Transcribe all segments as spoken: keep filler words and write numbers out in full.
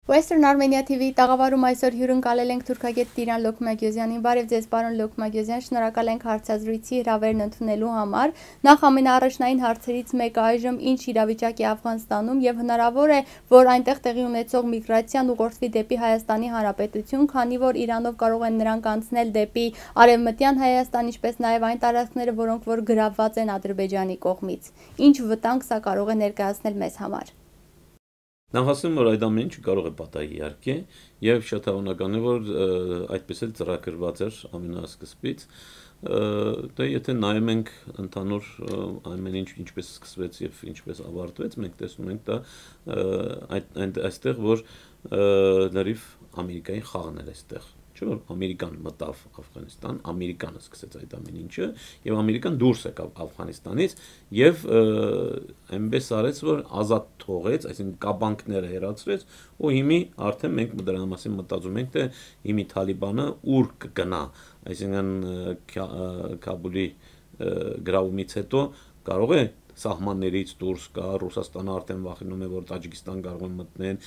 Western Armenia T V-ի տաղավարում այսօր հիւրընկալել ենք թուրքագէտ Տիրան Լոքմագիոզյանին։ Բարեւ ձեզ, պարոն Լոքմագիոզյան, շնորհակալ ենք հարցազրույցի հրավերն ընդունելու համար։ Նախ ամենաառաջնային հարցերից մեկը՝ այժմ ինչ իրավիճակ է Աֆղանստանում եւ հնարավոր է, որ այնտեղ տեղի ունեցող միգրացիան ուղղորդվի դէպի Հայաստանի Հանրապետություն, քանի որ Իրանով կարող են նրանք անցնել դէպի Արեւմտեան Հայաստան, ինչպէս նաեւ այն տարածքները, որոնք որ գրաւուած են Ադրբեջանի կողմից։ Ինչ վտանգ սա կարող է ներկայացնել մեզ համար։ Նախ ասեմ, որ այդ ամեն ինչը կարող է պատահի իհարկե, եւ շատ հավանական է, որ ը, այդպես էլ ծրագրված էր ամենասկզբից։ Ը, Դե եթե նայում ենք ընդհանուր ը, ամեն ինչ ինչպես սկսվեց եւ ինչպես ավարտվեց, մենք տեսնում ենք դա ը, այդ, այն, այստեղ, որ ը, լրիվ Ամերիկայի խաղն էր այստեղ։ Չէ՞ որ Ամերիկան մտավ Աֆղանստան, Ամերիկան սկսեց այդ ամեն ինչը, եւ Ամերիկան դուրս եկավ Աֆղանստանից, եւ ը, այնպես արեց, որ ազատ թողեց, այսինքն՝ կապանքները հեռացրեց, ու հիմի արդեն մենք դրա մասին մտածում ենք, թե հիմի Թալիբանը ուր կգնա, այսինքն՝ ը, Քա- ը, Քաբուլի ը, գրաումից հետո կարող է սահմաններից դուրս գա, Ռուսաստանը արդեն վախենում է, որ Տաջիկիստան կարող են մտնեն,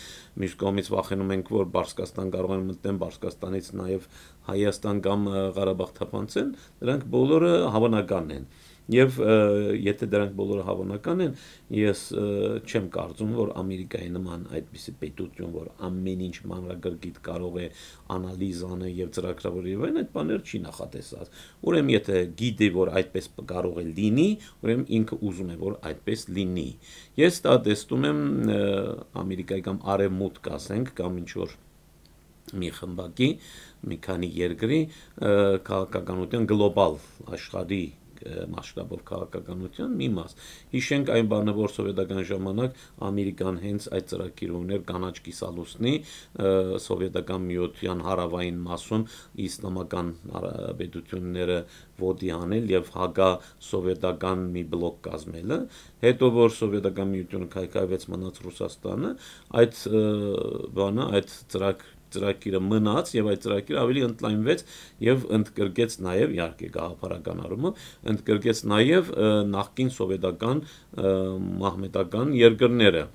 մյուս կողմից վախենում ենք, որ Բարսկաստան կարող են մտնեն, Բարսկաստանից նաեւ Հայաստան կամ ը, Ղարաբաղ թափանցեն, դրանք բոլորը հավանական են։ Եւ ը, եթե դրանք բոլորը հավանական են, ես ը, չեմ կարծում, որ Ամերիկայի նման այդպիսի պետություն, որ ամեն ինչ մանրակրկիտ կարող է անալիզ անը եւ ծրագրավորի եւ այն, այդ բաները չի նախատեսած։ Ուրեմն եթե գիտի, որ այդպես պ- կարող է լինի, ուրեմն ինքը ուզում է, որ այդպես լինի։ Ես դա տեսնում եմ ը, Ամերիկայի կամ Արևմուտք, ասենք, կամ ինչ որ մի խմբակի, մի քանի երկրի ը, քաղաքականության, գլոբալ աշխարհի ը, մասշտաբով քաղաքականության մի մաս։ Հիշենք այն բանը, որ սովետական ժամանակ Ամերիկան հենց այդ ծրագիրը ուներ կանաչ կիսալուսնի ը, սովետական միության հարավային մասում իսլամական արա- պետությունները ոտի հանել եւ հակա սովետական մի բլոկ կազմելը։ Հետո որ սովետական միությունը քայքայվեց, մնաց Ռուսաստանը, այդ ը, բանը, այդ ծրագ ծրագիրը մնաց եւ այդ ծրագիրը ավելի ընդլայնվեց եւ ընդգրկեց նաեւ, իհարկե, գաղափարական առումով, ընդգրկեց նաեւ ը, նախկին սովետական ը, մահմետական երկրները։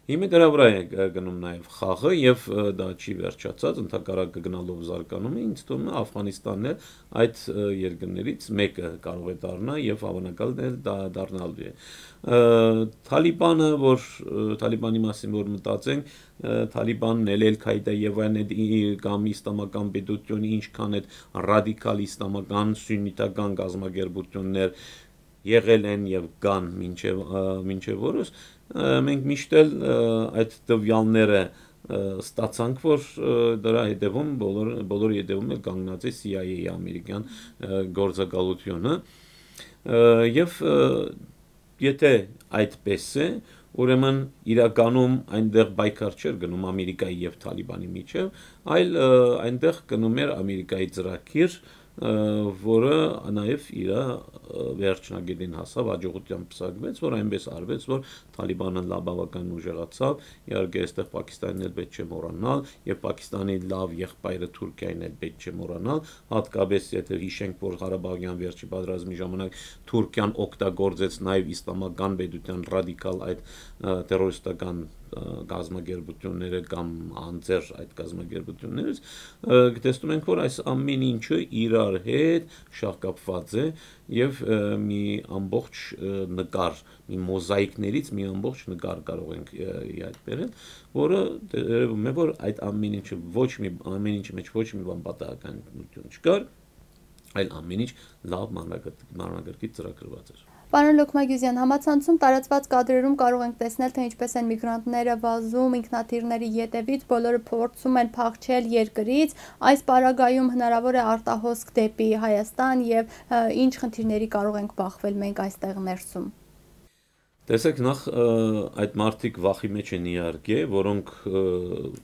Հիմա դրա վրա է ը, գնում նաև խաղը եւ ը, դա չի վերջացած, ընդհակառակը գնալով զարգանում է, ինձ թվում է Աֆղանիստանն էլ այդ ը, երկրներից մեկը կարող է դառնա եւ հավանական է դա դառնալու է։ Ը, Թալիբանը, որ ը, Թալիբանի մասին որ մտածենք, ը, Թալիբանն էլ, Էլ Քայդա եւ այն այդ ի- կամ իսլամական պետությունը, ինչքան այդ ռադիկալ իսլամական սուննիտական կազմակերպություններ եղել են եւ կան մինչեւ ը, մինչեւ օրս, ը, մենք միշտ էլ ը, այդ տվյալները ը, ստացանք, որ ը, դրա հետևում, բոլոր բոլորի հետևում էլ կանգնած է C I A, ամերիկյան ը, գործակալությունը։ Ը, Եւ ը, եթե այդպես է, ուրեմն իրականում այնտեղ պայքար չէր գնում Ամերիկայի եւ Թալիբանի միջեւ, այլ ը, այնտեղ գնում էր Ամերիկայի ծրագիր, ը, որը նաև իր ը, վերջնակետին հասավ, հաջողությամբ պսակվեց, որ այնպես արվեց, որ Թալիբանը լավ բավական ուժեղացավ։ Իհարկե, այստեղ Պակիստանին էլ պետք չէ մոռանալ, եւ Պակիստանի լավ եղբայրը Թուրքիային էլ պետք չէ մոռանալ, հատկապես եթե հիշենք, որ Ղարաբաղյան վերջի պատերազմի ժամանակ Թուրքիան օգտագործեց նաև իսլամական պետության ռադիկալ այդ ը, տերորիստական ը, կազմակերպությունները կամ անձեր այդ կազմակերպություններից, ը, տեսնում ենք, որ այս ամեն ինչը իրար հետ շահկապված է եւ ը, մի ամբողջ ը, նկար, մի մոզաիկներից մի ամբողջ նկար կարող ենք ը, իհայտ բերել, որը երևում է, որ այդ ամեն ինչը ոչ մի, ամեն ինչի մեջ ոչ մի բան պատահականություն չկար, այլ ամեն ինչ լավ մանրակրկիտ ծրագրված էր։ Պարոն Լոքմագիոզյան, համացանցում տարածված կադրերում կարող ենք տեսնել, թե ինչպես են միգրանտները վազում ինքնաթիռների ետևից, բոլորը փորձում են փախչել երկրից։ Այս պարագայում հնարավոր է արտահոսք դէպի Հայաստան եւ ը, ինչ խնդիրների կարող ենք բախվել մենք այստեղ ներսում։ Տեսեք, նախ ը, այդ մարդիկ վախի մեջ են իհարկե, որոնք ը,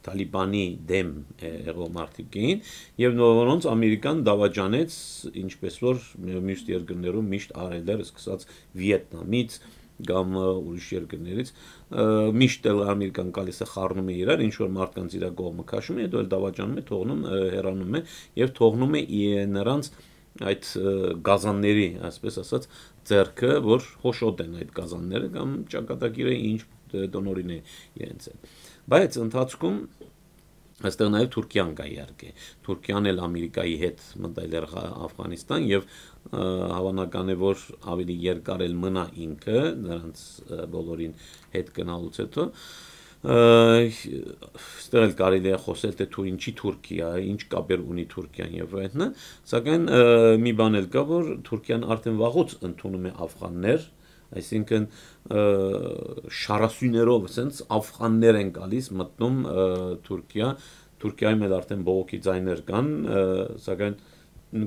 Թալիբանի դեմ ը, եղող մարդիկ էին, եւ նո- որոնց Ամերիկան դավաճանեց, ինչպես որ մյուս երկրներում միշտ արել էր, սկսած Վիետնամից կամ ը, ուրիշ երկրներից, ը, միշտ էլ Ամերիկան գալիս է, խառնում է իրար, ինչ որ մարդկանց իրա կողմը քաշում է, հետո էլ դավաճանում է, թողնում, ը, հեռանում է եւ թողնում է ի- նրանց այդ ը, գազանների, այսպես ասած, ձեռքը, որ հոշոտ են այդ գազանները կամ ճակատագիրը ինչ ը, տնօրին է իրենց հետ։ Բայց ընթացքում Այստեղ նաև Թուրքիան կա, իհարկե։ Թուրքիան էլ Ամերիկայի հետ մտել էր Ղա-, Աֆղանիստան, եւ, ը, հավանական է, որ ավելի երկար էլ մնա ինքը նրանց, ը, բոլորին հետ գնալուց հետո։ Ը, այստեղ էլ կարելի է խոսել, թե Թու-, ինչի Թուրքիա, ինչ կապեր ունի Թուրքիան եւ այլն, սակայն, ը, մի բան էլ կա, որ Թուրքիան արդեն վաղուց ընդունում է աֆղաններ, այսինքն, ը, շարասյուներով, ասենց, աֆղաններ են գալիս, մտնում, ը, Թուրքիա, Թուրքիայում էլ արդեն բողոքի ձայներ կան, ը, սակայն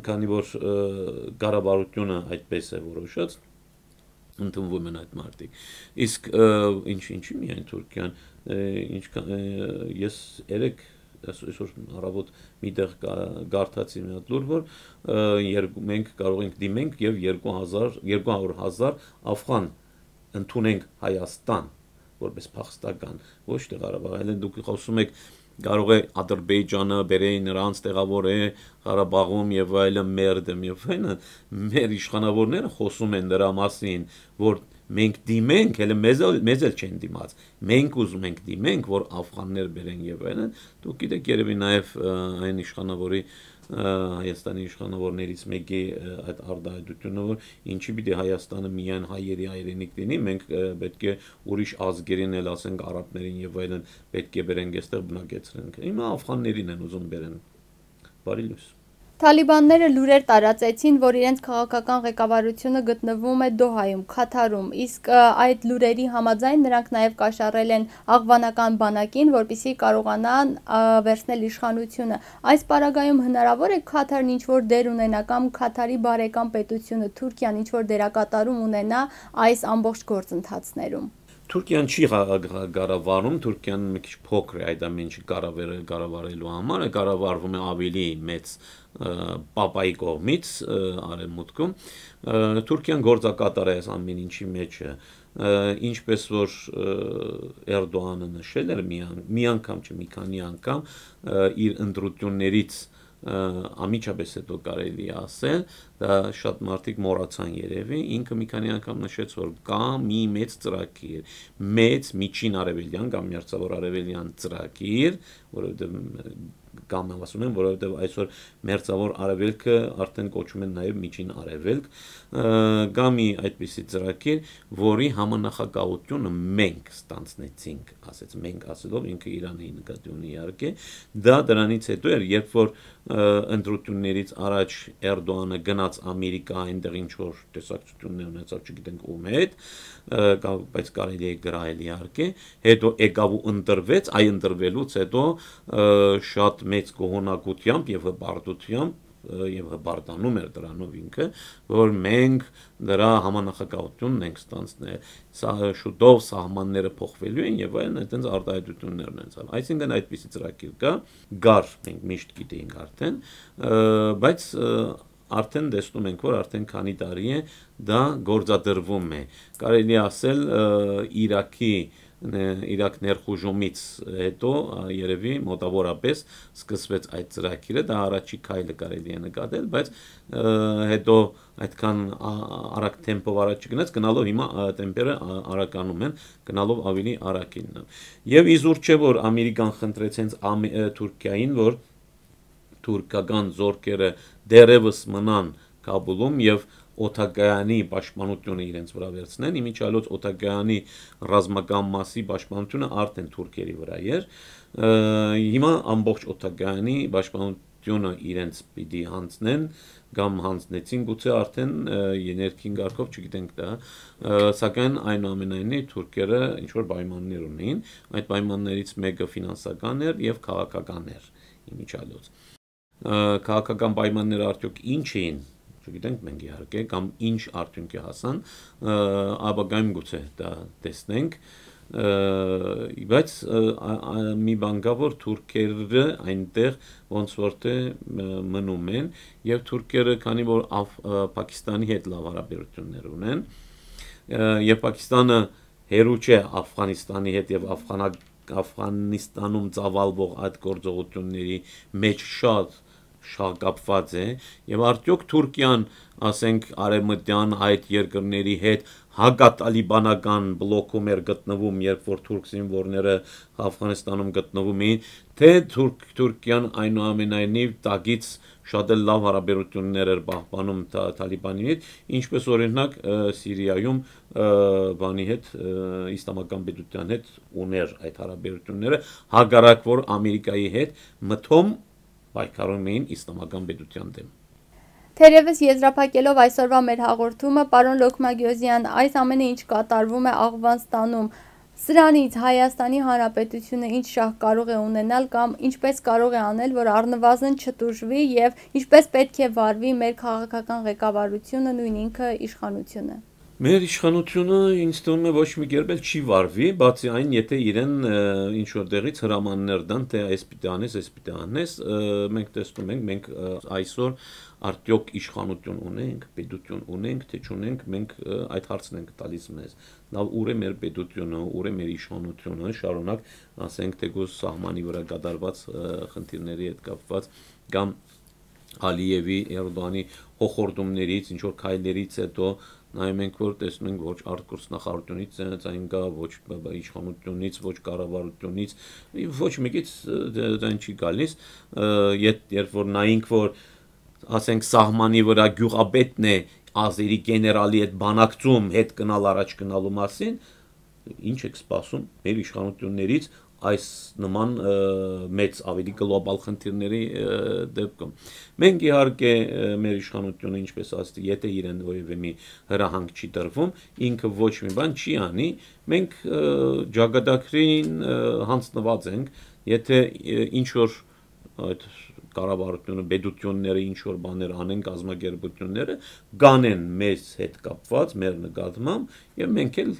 քանի որ, ը, կառավարությունը այդպես է որոշած, ընդունվում են այդ մարդիկ։ Իսկ, ը, ինչ, ինչի՞ միայն Թուրքիան, ը, ինչքան, ը, ես երեկ, այս-, այսօր առավոտ մի տեղ կա-, կարդացի մի հատ լուր, որ, ը, երկու, մենք կարող ենք դիմենք եւ երկու հազար, երկու հարյուր հազար աֆղան ընդունենք Հայաստան որպես փախստական, ոչ թե Ղարաբաղ, այլն դուք խոսում եք, կարող է Ադրբեջանը բերե նրանց, տեղավորե Ղարաբաղում եւ այլն, մեր դեմ եւ այլն, մեր իշխանավորները խոսում են դրա մասին, որ մենք դիմենք, հələ մեզ էլ, մեզ էլ չեն դիմած, մենք ուզում ենք դիմենք, որ աֆղաններ բերեն եւ այլն, դուք գիտեք, երևի նաև, ը, այն իշխանավորի, ը, Հայաստանի իշխանավորներից մեկի, ը, այդ արտահայտությունը, որ ինչի պիտի Հայաստանը միայն հայերի հայրենիք լինի, մենք, ը, պետք է ուրիշ ազգերին էլ, ասենք, արաբներին եւ այլն, պետք է բերենք, այստեղ բնակեցրենք։ Հիմա աֆղաններին են ուզում բերեն։ Բարի լույս։ Թալիբանները լուրեր տարածեցին, որ իրենց քաղաքական ղեկավարությունը գտնվում է Դոհայում, Քաթարում, իսկ, ը, այդ լուրերի համաձայն նրանք նաև կաշառել են աղվանական բանակին, որպեսզի կարողանան, ը, վերցնել իշխանությունը։ Այս պարագայում հնարավոր է Քաթարն ինչ-որ դեր ունենա կամ Քաթարի բարեկամ պետությունը, Թուրքիան ինչ-որ դերակատարում ունենա այս ամբողջ գործընթացներում։ Թուրքիան չի ղա-, ղա-, կառավարում, Թուրքիան մի քիչ փոքր է այդ ամեն ինչի կառավարը-, կառավարելու համար, կառավարվում է ավելի մեծ, ը, պապայի կողմից, ը, արևմուտքում։ Ը, Թուրքիան գործակատար է այս ամեն ինչի մեջ, ը, ինչպես որ, ը, Էրդողանը նշել էր մի ան-, մի անգամ, չէ, մի քանի անգամ, ը, իր ընտրություններից, ը, անմիջապես հետո կարելի է ասել, դա շատ մարդիկ մոռացան երևի, ինքը մի քանի անգամ նշեց, որ կա մի մեծ ծրագիր, մեծ միջին արևելյան կամ մերձավոր արևելյան ծրագիր, որովհետև, ը, կամ ասում են, որովհետև այսօր մերձավոր արևելքը արդեն կոչում են նաև միջին արևելք, ը, կա մի այդպիսի ծրագիր, որի համանախագահությունը մենք ստանձնեցինք, ասեց, մենք ասելով ինքը Իրանի նկատի ունի իհարկե, դա դրանից հետո էր, երբ որ, ը, ընտրություններից առաջ Էրդողանը գնաց Ամերիկա, այնտեղ ինչ որ տեսակցություններ ունեցավ, չգիտենք ում հետ, ը, կա-, բայց կարելի է գրահել իհարկե, հետո եկավ ու ընտրվեց, այ ընտրվելուց հետո, ը, շատ մեծ գոհունակությամբ եւ հպարտությամբ, ը, եւ հպարտանում էր դրանով ինքը, որ մենք նրա համանախագահությունն ենք ստանձնել, սա շուտով սահմանները փոխվելու են եւ այլն, այդտենց արտահայտություններ ունեցավ։ Այսինքն այդպիսի ծրագիր կա, կար, մենք միշտ գիտեինք արդեն, ը, բայց, ը, արդեն տեսնում ենք, որ արդեն քանի տարի է դա գործադրվում է։ Կարելի ասել, ը, Իրաքի, ը, Իրաք ներխուժումից հետո, ը, երևի մոտավորապես սկսվեց այդ ծրագիրը, դա առաջի քայլը կարելի է նկատել, բայց, ը, հետո այդքան, ա, արագ թեմպով առաջ չգնաց, գնալով հիմա, ա, տեմպերը, ա, արագանում են, գնալով ավելի արագ իննը։ Եվ իզուր չէ, որ Ամերիկան խնդրեց հենց Ամի-, ը, Թուրքիային, որ թուրքական զորքերը դեռևս մնան Քաբուլում եւ օդակայանի պաշտպանությունը իրենց վրա վերցնեն։ Իմիջիայլոց օդակայանի ռազմական մասի պաշտպանությունը արդեն թուրքերի վրա էր։ Ը, հիմա ամբողջ օդակայանի պաշտպանությունը իրենց պիտի հանձնեն կամ հանձնեցին գուցե արդեն, ը, ներքին կարգով, չգիտենք դա, ը, սակայն այնուամենայնիվ թուրքերը ինչ որ պայմաններ ունեին, այդ պայմաններից մեկը ֆինանսական էր եւ քաղաքական էր իմիջիայլոց։ Ը, քաղաքական պայմանները արդյոք ինչ էին, չգիտենք մենք իհարկե, կամ ինչ արդյունքի հասան, ը, ապագայում գուցե դա տեսնենք, ը, բայց, ը, ա, ա, մի բան կա, որ թուրքերը այնտեղ ոնց որ թե, ը, մնում են, եւ թուրքերը, քանի որ Աֆ-, ը, Պակիստանի հետ լավ հարաբերություններ ունեն, ը, եւ Պակիստանը հերու չէ Աֆղանիստանի հետ եւ Աֆղանա-, Աֆղանիստանում ծավալվող այդ գործողությունների մեջ շատ շահկապված է, եւ արդյոք Թուրքիան, ասենք, արեւմտեան այդ երկրների հետ հակատալիբանական բլոկում էր գտնվում, երբ որ թուրք զինվորները Աֆղանստանում գտնվում էին, թե Թուրք-, Թուրքիան այնուամենայնիվ տակից շատ էլ լավ հարաբերություններ էր պահպանում Թա-, Թալիբանի հետ, ինչպես օրինակ, ը, Սիրիայում, ը, բանի հետ, ը, Իսլամական պետութեան հետ ուներ այդ հարաբերությունները, հակառակ որ Ամերիկայի հետ մթոմ պայքարում էին Իսլամական պետութեան դէմ։ Թերեւս եզրափակելով այսօրվա մեր հաղորդումը, պարոն Լոքմագիոզյան, այս ամենը ինչ կատարվում է Աղվանստանում, սրանից Հայաստանի Հանրապետությունը ինչ շահ կարող է ունենալ կամ ինչպես կարող է անել, որ առնվազն չտուժվի եւ ինչպես պետք է վարվի մեր քաղաքական ղեկավարությունը, նույն ինքը իշխանությունը։ Մեր իշխանությունը, ինձ թվում է, ոչ մի կերպ էլ չի վարվի, բացի այն, եթե իրեն, ը, ինչ որ տեղից հրամաններ տան, թե այս պիտի անես, այս պիտի անես, ը, մենք տեսնում ենք, մենք, ը, այսօր արդյոք իշխանություն ունենք, պետություն ունենք, թե չունենք, մենք, ը, այդ հարցն ենք տալիս մեզ։ Լավ, ուր է մեր պետությունը, ուր է մեր իշխանությունը, շարունակ, ասենք, թեկուզ սահմանի վրա կատարված, ը, խնդիրների հետ կապված կամ Ալիևի, Էրդողանի հոխորտումներից, ինչ որ քայլերից հետո նայում ենք, որ տեսնում ենք, ոչ արտգործնախարարությունից ձայ-, ձայն կա, ոչ բ-, բ-, իշխանությունից, ոչ կառավարությունից, ոչ մեկից, ը, դե-, ձայն չի գալիս, ը, ետ-, երբ որ նայենք, որ, ասենք, սահմանի վրա գյուղապետն է ազերի գեներալի հետ բանակցում, հետ գնալ, առաջ գնալու մասին, ինչ եք սպասում մեր իշխանություններից այս նման, ը, մեծ, ավելի գլոբալ խնդիրների, ը, դեպքում։ Մենք, իհարկե, ը, մեր իշխանությունը, ինչպես ասեցի, եթե իրեն որևէ մի հրահանգ չի տրվում, ինքը ոչ մի բան չի անի, մենք, ը, ճակատագրին, ը, հանձնված ենք, եթե, ը, ինչ որ այդ կառավարությունը, պետությունները ինչ որ բաներ անեն, կազմակերպությունները, կանեն մեզ հետ կապված, մեր նկատմամբ, եւ մենք էլ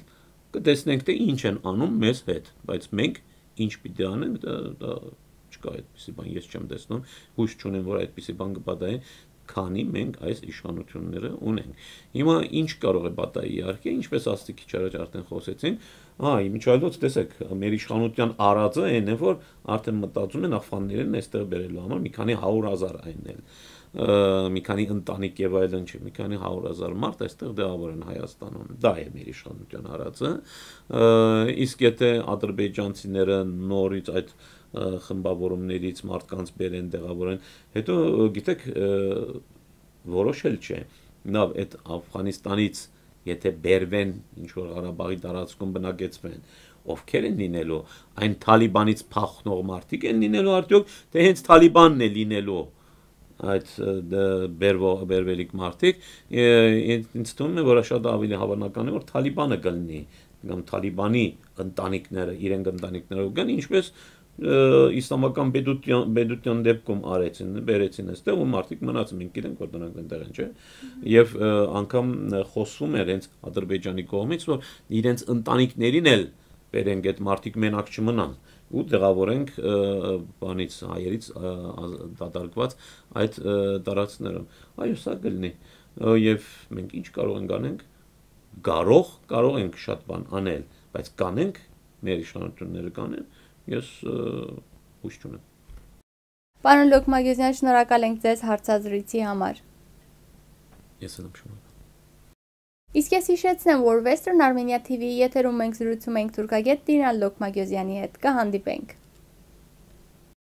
կտեսնենք, թե ինչ են անում մեզ հետ, բայց մենք ինչ պիտի անենք, դա, դա չկա այդպիսի բան, ես չեմ տեսնում, հույս չունեմ, որ այդպիսի բան կպատահի, քանի մենք այս իշխանությունները ունենք։ Հիմա ինչ կարող է պատահի, իհարկե, ինչպես ասացի քիչ առաջ արդեն խոսեցին, ահա, ի միջայլոց, տեսեք, մեր իշխանության արածը այն է, որ արդեն մտածում են ախվաններին այստեղ բերելու համար մի քանի հարյուր հազար այնել, ը, մի քանի ընտանիք եւ այլն չէ, մի քանի հարյուր հազար մարդ այստեղ դեղավորեն Հայաստանում։ Դա է մեր իշխանության արածը։ Ը, իսկ եթե ադրբեջանցիները նորից այդ, ը, խմբավորումներից մարդկանց բերեն, դեղավորեն, հետո, ը, գիտեք, ը, որոշել չէ։ Լավ, այդ Աֆղանիստանից եթե բերվեն, ինչ որ Ղարաբաղի տարածքում բնակեցվեն, ովքեր են լինելու, այն Թալիբանից փախնող մարդիկ են լինելու արդյոք, թե հենց Թալիբանն է լինելու այդ, ը, դ-, բերվող, բերվելիք մարդիկ, ը, ինձ, ինձ թվում է, որ շատ ավելի հավանական է, որ Թալիբանը կլինի, կամ Թալիբանի ընտանիքները, իրենք ընտանիքներով կան, ինչպես, ը, իսլամական պետության, պետության դեպքում արեցին, բերեցին այստեղ, ու մարդիկ մնացին, մենք գիտենք, որ դրանք այնտեղ են, չէ՞։ Մհմ։ Եվ, ը, անգամ, ը, խոսվում էր հենց Ադրբեջանի կողմից, որ իրենց ընտանիքներին էլ բերենք, այդ մարդիկ մենակ չմնան, ու դեղավորենք, ը, բանից, հայերից, ը, ազատագրված այդ, ը, տարածքներում։ Այո, սա կլինի։ Ը, և մենք ինչ կարող ենք անենք, կարող, կարող ենք շատ բան անել, բայց կանենք, մեր իշխանությունները կանեն, ես, ը, հույս չունեմ։ Պարոն Լոքմագիոզյան, շնորհակալ ենք ձեզ հարցազրույցի համար։ Ես էլ եմ շնորհակալ։ Իսկ ես հիշեցնեմ, որ Western Armenia T V-ի եթերում մենք զրուցում ենք թուրքագետ Տիրան Լոքմագիոզյանի հետ։ Կհանդիպենք։